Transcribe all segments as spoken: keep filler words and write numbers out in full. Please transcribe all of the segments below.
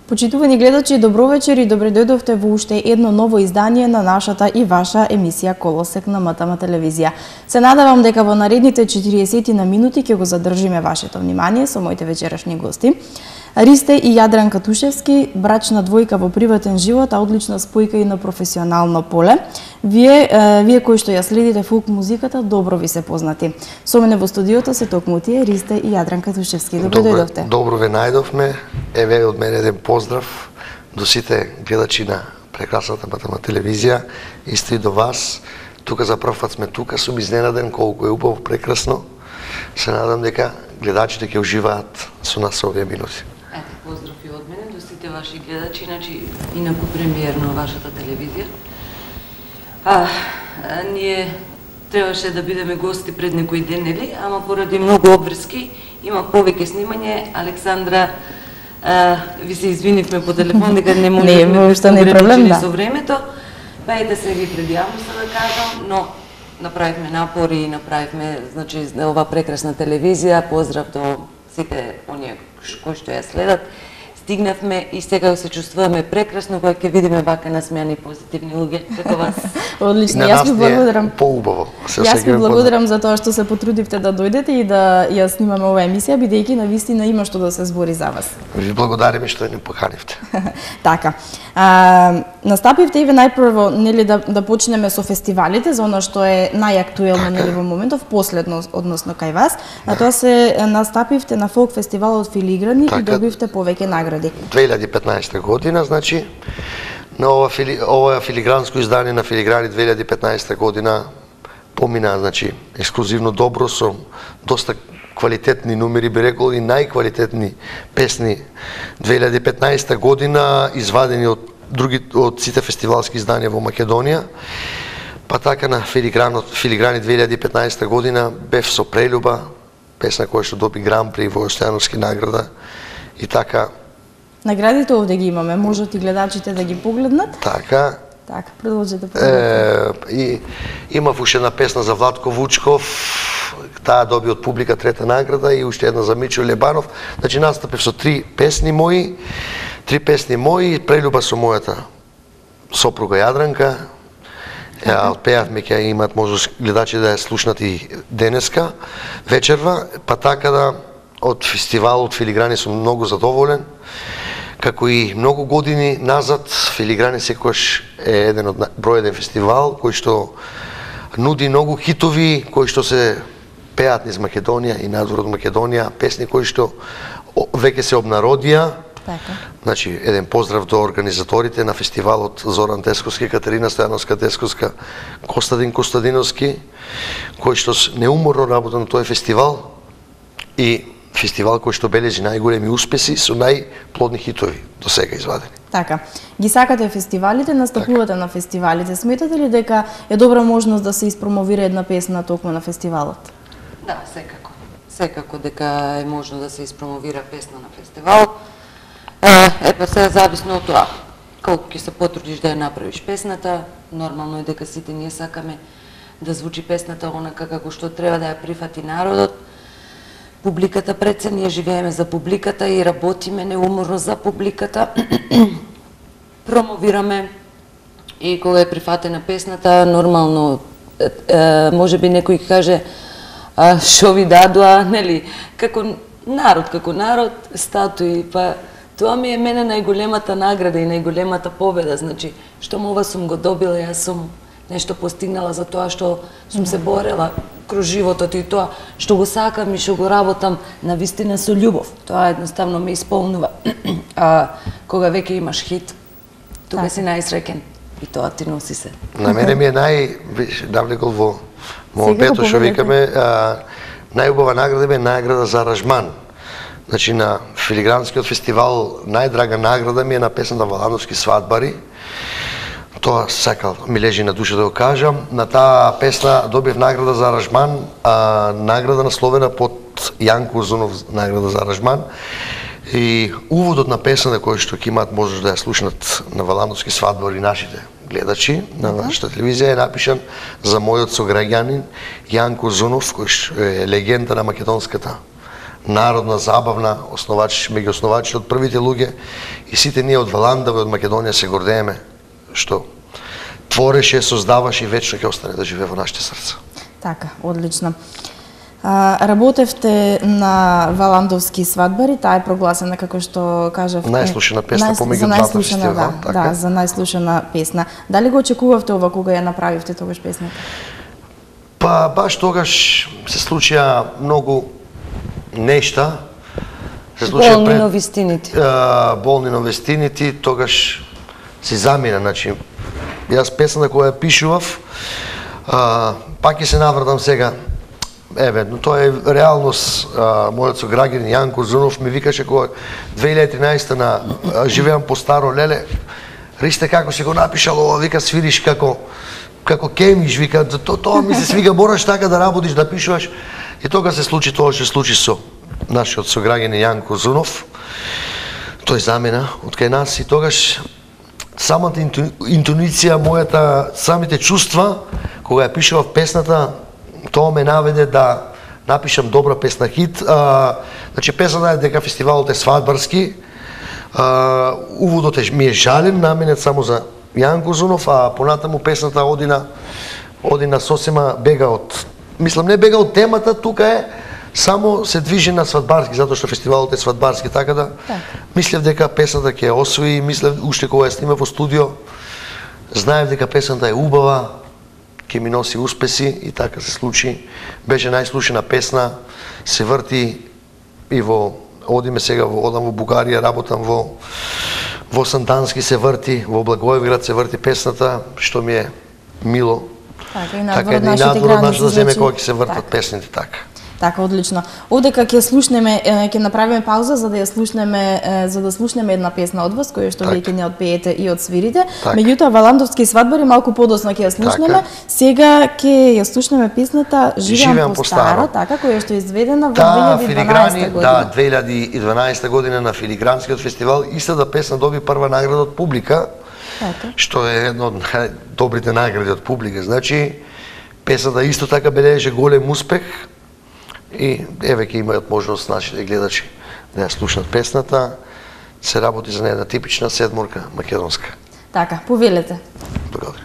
Почитувани гледачи, добро вечер и добре дојдовте во уште едно ново издание на нашата и ваша емисија Колосек на МТМ телевизија. Се надевам дека во наредните четириесет на минути ќе го задржиме вашето внимание со моите вечерашни гости. Ристе и Јадранка Тушевски, брачна двојка во приватен живот, а одлична спојка и на професионално поле. Вие, е, вие кои што ја следите фолк музиката, добро ви се познати. Со мене во студиото се токму тие Ристе и Јадранка Тушевски. Добро дојдовте. Добро ве најдовме. Еве од мене еден поздрав до сите гледачи на прекрасната МТМ телевизија, исто и до вас. Тука за прв пат сме тука, сум изненаден колку е убаво, прекрасно. Се надам дека гледачите ќе уживаат со нас овие минути. Ете, поздрав и од мене до сите ваши гледачи, значи инаку премиерно вашата телевизија. А, а ние требаше да бидеме гости пред некој ден, нели? Ама поради многу обврски, има повеќе снимање. Александра, а, ви се извинивме по телефон дека не можеме да не проблем, да. Со времето. Па и да се ви предјавам се да кажам, но направивме напори и направивме, значи, ова прекрасна телевизија. Поздрав до сите оние кои што ја следат. Стигнавме и сега се чувствуваме прекрасно кога ќе видиме вака насмеани позитивни луѓе како вас. Одлично, јас ви благодарам. Поубаво. Јас ви благодарам за тоа што се потрудивте да дојдете и да ја снимаме оваа емисија, бидејќи навистина има што да се збори за вас. Ви благодариме што ни поканивте. Така. А, настапивте и ве најпрво, нели, да да почнеме со фестивалите, за она што е најактуелно, нели, во моментов, последно односно кај вас. А тоа се настапивте на фолк фестивалот Филиграни така, и добивте повеќе награди. две илјади и петнаесета година, значи, на ова, фили, ова филигранско издание на Филиграни две илјади и петнаесета година помина, значи, ексклузивно добро, со доста квалитетни номери, би рекол, и најквалитетни песни две илјади и петнаесета година, извадени од други, од сите фестивалски изданија во Македонија. Па така на Филиграни две илјади и петнаесета година бев со Прелюба, песна која што доби Гран-при во Стојановски награда, и така. Наградите овде ги имаме, можат и гледачите да ги погледнат. Така. Така, продолжете да погледнете. И имав уште една песна за Владко Вучков, таа доби од публика трета награда, и уште една за Мичо Лебанов. Значи настапив со три песни мои, три песни мои, Прелюба со мојата сопруга Јадранка. Ја отпеавме, ќе имат можност гледачи да ја слушнат и денеска, вечерва, па така да од фестивалот Филиграни сум многу задоволен. Како и многу години назад, Филиграни секогаш е еден од број еден фестивал кој што нуди многу хитови кои што се пеат низ Македонија и надвор од Македонија, песни кои што веќе се обнародија. Така. Значи, еден поздрав до организаторите на фестивалот Зоран Тесковски, Катерина Стојановска Тесковска, Костадин Костадиновски, кои што неуморно работат на тој фестивал, и фестивал кој што бележи најголеми успеси со најплодни хитови до сега извадени. Така. Ги сакате фестивалите, настапувате така на фестивалите. Сметате ли дека е добра можност да се испромовира една песна токму на фестивалот? Да, секако. Секако дека е можно да се испромовира песна на фестивал. Е, па се зависно од тоа колку ќе се потрудиш да ја направиш песната. Нормално е дека сите ние сакаме да звучи песната онака како што треба, да ја прифати народот. Публиката пред се, ние живееме за публиката и работиме неуморно за публиката. Промовираме, и кога е прифатена песната, нормално, е, може би некој каже, а, шо ви дадоа, нели, како народ, како народ, статуи, па тоа ми е мене најголемата награда и најголемата победа, значи, што ова сум го добила, јас сум нешто постигнала за тоа што сум се борела кроз животот и тоа што го сакам и што го работам навистина со ľубов. Тоа едноставно ме исполнува. А кога веќе имаш хит, тука так си најсреќен и тоа ти носи се. На мене ми е нај навлекол во моето што викаме, најубава награда ми е награда за аранжман. Значи на Филигранскиот фестивал најдрага награда ми е на песната Валановски свадбари. Тоа сакал, ми лежи на душа да го кажам. На таа песна добив награда за аранжман, а награда насловена под Јанко Узунов, награда за аранжман. И уводот на песната кој што ќе имаат можност да ја слушнат на Валановски свадбари нашите гледачи на нашата телевизија, е напишан за мојот сограѓанин Јанко Узунов, кој што е легенда на македонската народна забавна, основач, меѓу основачите од првите луѓе и сите ние од Валандава и од Македонија се гордееме што твореше, создаваше и вечно ќе остане да живее во нашите срца. Така, одлично. А, работевте на Валандовски свадбари, таа е прогласена како што кажав најслушана песна најс... помеѓу двата фестивала, да, така? Да, за најслушана песна. Дали го очекувавте ова кога ја направивте тогаш песната? Па баш тогаш се случија многу нешта. Се случија Болни пред новистините. а, болни новистините, тогаш се замина, значи јас песната која ја пишував, а, пак ќе се навратам сега. Еве, но тоа е реалност. А, мојот сограѓанин Јанко Зунов ми викаше кога две илјади и тринаесетта на а, живеам по Старо Леле. Ристе како си го напишал ова, вика свириш како како кемиш, вика то, тоа ми се свига, мораш така да работиш, да пишуваш. И тога се случи тоа што се случи со нашиот сограѓанин Јанко Зунов. Тој замина од кај нас и тогаш самата интуиција, мојата, самите чувства кога ја пишував песната, тоа ме наведе да напишам добра песна хит. А, значи песната е дека фестивалот е свадбарски. А, уводот е ми е жален, наменет само за Јанко Зунов, а понатаму песната оди на оди на сосема бега од, мислам не бега од темата, тука е само се движи на свадбарски, затоа што фестивалот е свадбарски, така да так. Мислев дека песната ќе освои, мислев уште кога ја снима во студио, знаев дека песната е убава, ќе ми носи успеси и така се случи. Беше најслушана песна, се врти и во, одиме сега, во, одам во Бугарија, работам во во Сандански се врти, во Благоевград се врти песната, што ми е мило. Така и Така надвор и од нашите надвор од нашата граници, земја значи, кога ќе се вртат така. песните така. Така, одлично. Одека ќе слушнеме, е, ќе направиме пауза за да ја слушнеме, е, за да слушнеме една песна од вас која што Так. веќе не одпеете и одсвирите. Так. Меѓутоа Валандовски свадбари малку подоцна ќе ја слушнеме. Така. Сега ќе ја слушнеме песната Живеам, Живеам по по старо, старо. така која што е изведена во Да, две илјади и филиграни, дванаесета да, година. две илјади и дванаесета година на Филигранскиот фестивал, истата песна доби прва награда од публика, Така. што е една од најдобрите награди од публика. Значи, песната исто така бележеше голем успех и еве ќе имаат можност нашите гледачи да ја слушнат песната. Се работи за една типична седморка македонска. Така, повелете. Благодарам.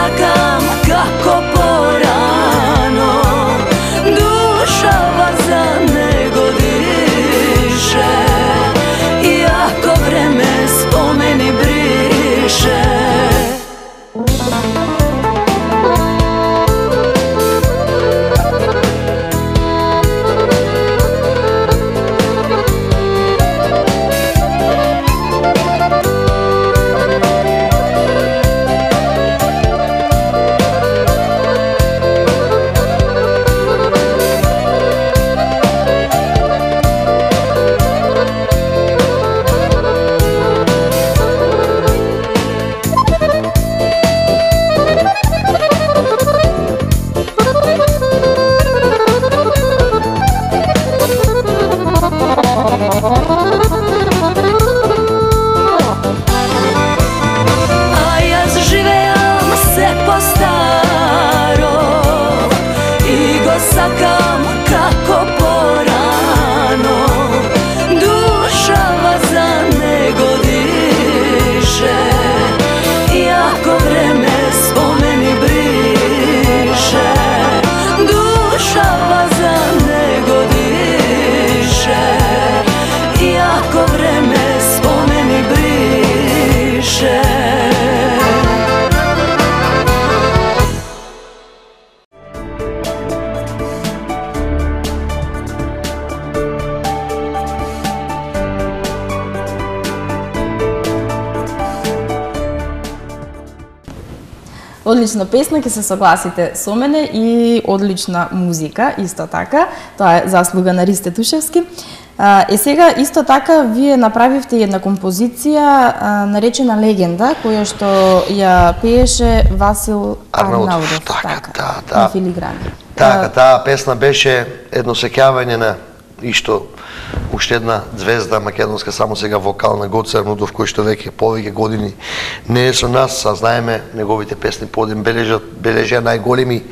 сакам како порано, душа за него дише, иако време спомени брише. Сакам како порано, душа за него дише, иако време спомени брише, душа за него дише, иако време спомени брише. Одлична песна, ќе се согласите со мене, и одлична музика, исто така. Тоа е заслуга на Ристе Тушевски. Е сега, исто така, вие направивте една композиција наречена Легенда, која што ја пееше Васил Арнаудов. Така, да, да. На филиграни. Така, таа песна беше едно сеќавање на ишто уште една звезда македонска, само сега вокална, Гоце Арнаудов, кој што веќе повеќе години не е со нас, а знаеме неговите песни подем бележат бележа најголеми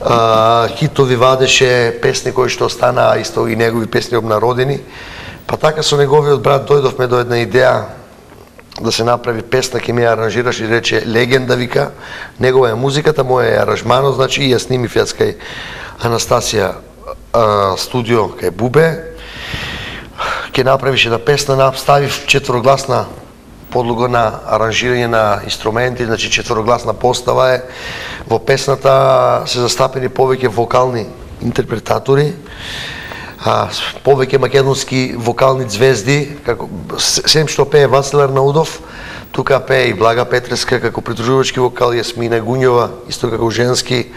а, хитови, вадеше песни кои што останаа исто и негови песни обнародени. Па така со неговиот брат дојдовме до една идеја да се направи песна, ке ми ја аранжираш и рече Легенда, вика, негова е музиката, моја е аранжманот, значи и ја снимив јас кај Анастасија а, студио кај Бубе. Ке направиш една песна, ставив четворогласна подлога на аранжирање на инструменти, значи четворогласна постава е. Во песната се застапени повеќе вокални интерпретатори, а, повеќе македонски вокални звезди, како сем што пее Васил Арнаудов, тука пее и Блага Петреска како придружувачки вокал, Јасмина Гуњова исто како женски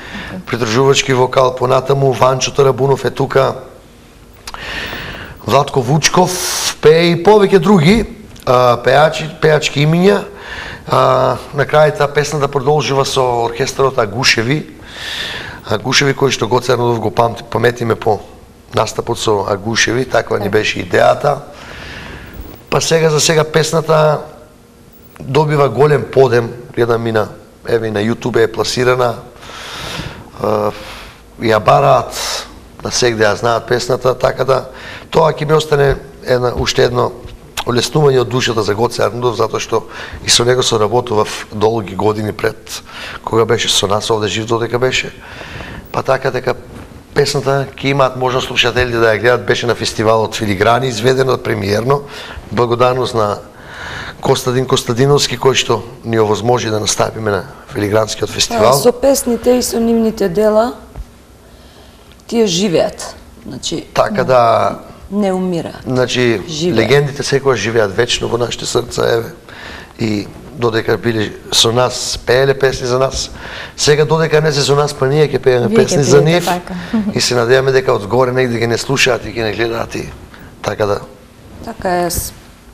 придружувачки вокал, понатаму Ванчо Тарабунов е тука, Владко Вучков пее и повеќе други а, пеачи, пеачки имиња. А, на крај таа песната продолжува со оркестарот Агушеви. Агушеви кој што Гоце Арнаудов го памти, паметиме по настапот со Агушеви, таква ни беше идејата. Па сега за сега песната добива голем подем, гледам и на, еве на YouTube е пласирана. А, ја бараат на сегде ја знаат песната, така да тоа ќе ми остане една, уште едно олеснување од душата за Гоце Арнаудов, затоа што и со него соработував долги години пред кога беше со нас овде жив, додека беше. Па така дека песната ќе имаат можност слушателите да ја гледат, беше на фестивалот Филиграни, изведено премиерно, благодарност на Костадин Костадиновски, кој што ни овозможи да настапиме на Филигранскиот фестивал. Со песните и со нивните дела тие живеат. Значи, така да не умира. Значи, живеат. Легендите секогаш живеат вечно во нашите срца, еве. И додека биле со нас, пееле песни за нас. Сега додека не се со нас, па ние ќе пееме песни за нив. Така. И се надеваме дека одгоре негде ќе не слушаат и ќе не гледаат и така да. Така е.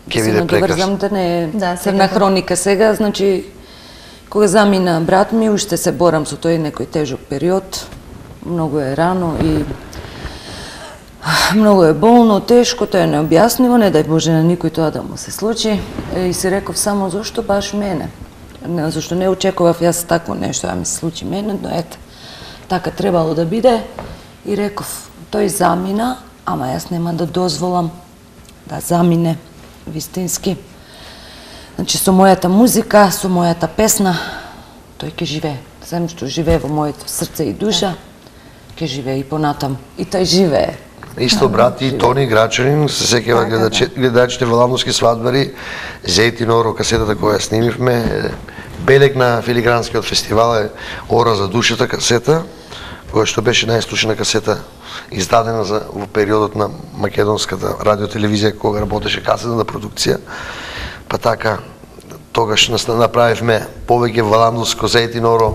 Ќе биде прекрасно. Да не е да, црна хроника сега, значи кога замина брат ми, уште се борам со тој некој тежок период. Многу е рано и многу е болно, тешко, тоа е необјаснимо, не дај Боже на никој тоа да му се случи. И се реков само зошто баш мене. Не, зашто не очекував јас такво нешто да ми се случи мене, но ете, така требало да биде. И реков, тој замина, ама јас нема да дозволам да замине вистински. Значи со мојата музика, со мојата песна, тој ќе живее. Сем што живее во моето срце и душа, ќе живее и понатам. И тој живее. Исто брат и Тони Грачанин, се сеќава гледачите во Ландовски свадбари, Зејтин Оро, касетата која снимивме, белег на Филигранскиот фестивал е Ора за душата касета, која што беше најслушана касета издадена за, во периодот на македонската радиотелевизија кога работеше касетна продукција. Па така, тогаш направивме повеќе Валандовско Зејтин Оро,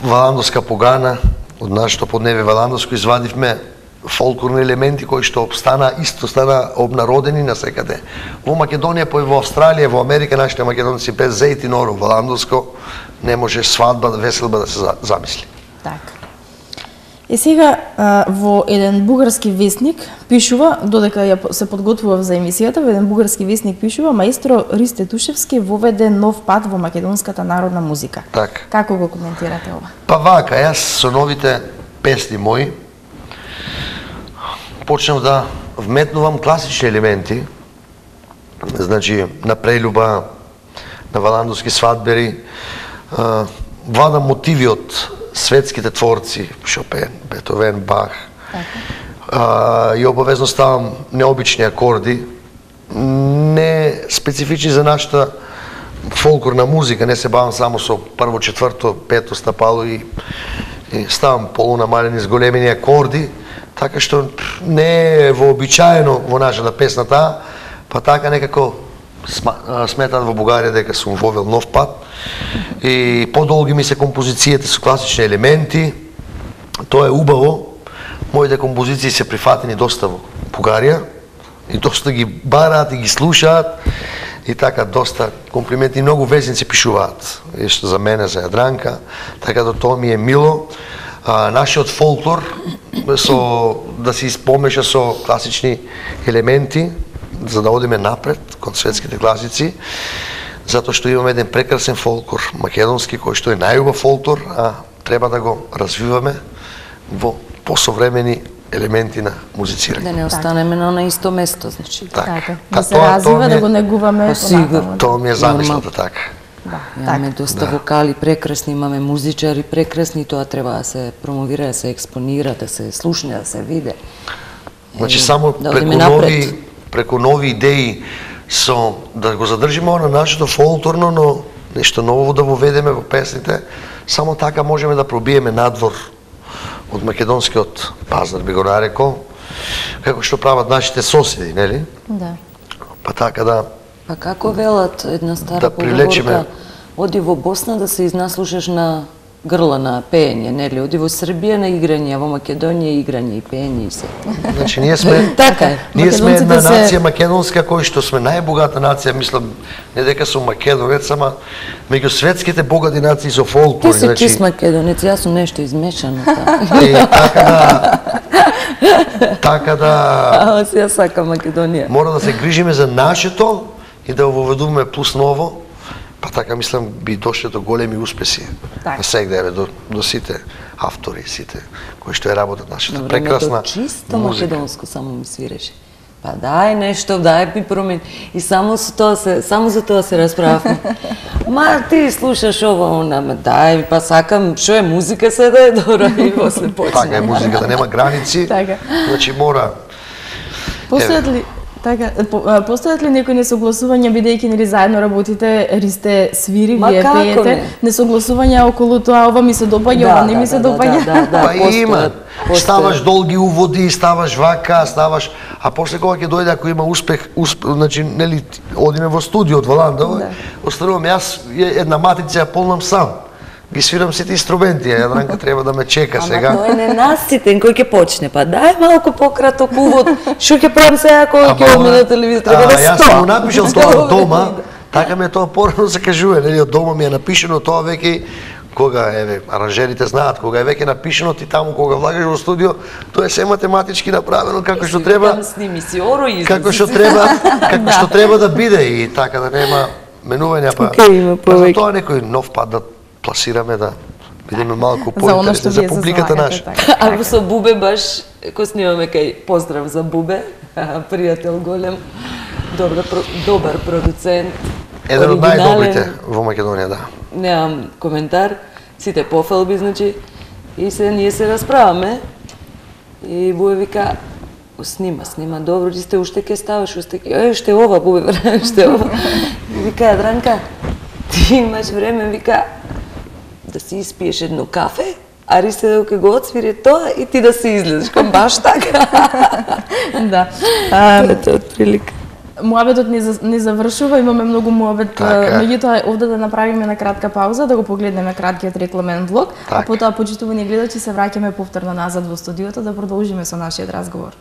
Валандовска погана, од нашето подневе Валандовско извадивме фолклорни елементи кои што обстана, исто стана обнародени насекаде. Во Македонија, па и во Австралија, во Америка, нашите македонци без Зејтин Оро, Валандовско, не може свадба, веселба да се замисли. Така. И сега во еден бугарски весник пишува, додека ја се подготвував за емисијата, во еден бугарски весник пишува: маестро Ристе Тушевски воведе нов пат во македонската народна музика. Така. Како го коментирате ова? Па вака, јас со новите песни мои почнав да вметнувам класични елементи, значи на прелюба, на валандовски свадбери, владам мотиви од светските творци, Шопен, Бетовен, Бах, а, и обавезно ставам необични акорди, не специфични за нашата фолклорна музика, не се бавам само со прво, четврто, пето стапало и, и ставам полунамалени с големени акорди, така што не е вообичаено во нашата песната, па така некако сметаат во Бугарија дека сум вовел нов пат и подолги ми се композициите со класични елементи. Тоа е убаво. Моите композиции се прифатени доста во Бугарија и доста ги бараат и ги слушаат и така доста комплименти, многу везници пишуваат што за мене, за Јадранка, така да тоа ми е мило. А, нашиот фолклор со да се испомеша со класични елементи за да одиме напред кон светските класици, затоа што имаме еден прекрасен фолклор македонски кој што е најубав фолклор, а треба да го развиваме во посовремени елементи на музицирање. Да не останеме на исто место, значи. Така. Да се развива, да го негуваме понатаму. Тоа ми е замислата така. Да, имаме така. Доста да. Вокали прекрасни, имаме музичари прекрасни, тоа треба да се промовира, да се експонира, да се слушне, да се виде. Значи само да преку нови преку нови идеи со да го задржиме на нашето фолклорно, но нешто ново да воведеме во песните, само така можеме да пробиеме надвор од македонскиот пазар, би го нарекол, како што прават нашите соседи, нели? Да. Па така да Па како велат една стара да поговорка, оди во Босна да се изнаслушаш на грла на пеење, нели? Оди во Србија на играње, во Македонија играње и пеење и се. Значи ние сме така е. Ние сме една нација македонска кој што сме најбогата нација, мислам, не дека сум македонец, ама меѓу светските богати нации со фолклор, значи. Ти си чист македонец, јас сум нешто измешано така. И така да така да Ама си ја сакам Македонија. Мора да се грижиме за нашето и да воведуваме плюс ново. Па така мислам би дошле до големи успеси на сегде до до сите автори, сите кои што ја работат нашата Добре, прекрасна чисто музика. македонско само ми свиреше. Па дај нешто, дај ми промени. И само со тоа се, само за тоа се расправавме. Ма ти слушаш ова, она, ма дај, па сакам, што е музика се да е добра и после почне. Така е музиката, нема граници. Така. Значи мора. Постојат ли Така, постојат ли некои несогласувања, бидејќи нели заедно работите, Ристе свири, Ма вие пеете, не? несогласувања околу тоа, ова ми се допаѓа, Да, ова не да, ми се да, допаѓа? да, да, да. Па постојат, има. постојат. Ставаш долги уводи, ставаш вака, ставаш, а после кога ќе дојде ако има успех, успех, значи нели одиме во студио од Валандово, Да. останувам јас една матрица ја полнам сам. Ги свирам сите инструменти, а Јадранка треба да ме чека сега. Ама тој не наситен кој ќе почне, па дај малку пократок увод. Што ќе правам сега кога ќе одиме на телевизија, треба да Јас стоам. сум го напишал тоа од дома, така ме тоа порано се кажува, нели од дома ми е напишано тоа веќе кога еве аранжерите знаат, кога е веќе напишано ти таму кога влагаш во студио, тоа е се математички направено како што треба. Там сними си оро и Како што треба, како што треба да биде и така да нема менувања па. Океј, има Па повеќе. за тоа некој нов пат да пласираме да бидеме малку За оно што поинтересни за вие се публиката залагате, наша. така. А со Бубе баш, кој снимаме кај поздрав за Бубе, пријател голем, добар, добар продуцент, Еден од оригинален. најдобрите во Македонија, да. Немам коментар, сите пофалби, значи, и се ние се расправаме. И Буе вика, снима, снима, добро, ти сте уште ке ставаш, уште ке, е, ште ова, Буе, ште ова. И вика, Јадранка, ти имаш време, вика, да си испиеш едно кафе, а Рисе да ке го отсвири тоа и ти да се излезеш, кам баш така. Да. Тоа е тоа отприлика. Муабетот не, за, не завршува, имаме многу муабет, Така. меѓутоа овде да направиме на кратка пауза, да го погледнеме краткиот рекламен блок, а Така. потоа почитувани гледачи се враќаме повторно назад во студиото да продолжиме со нашиот разговор.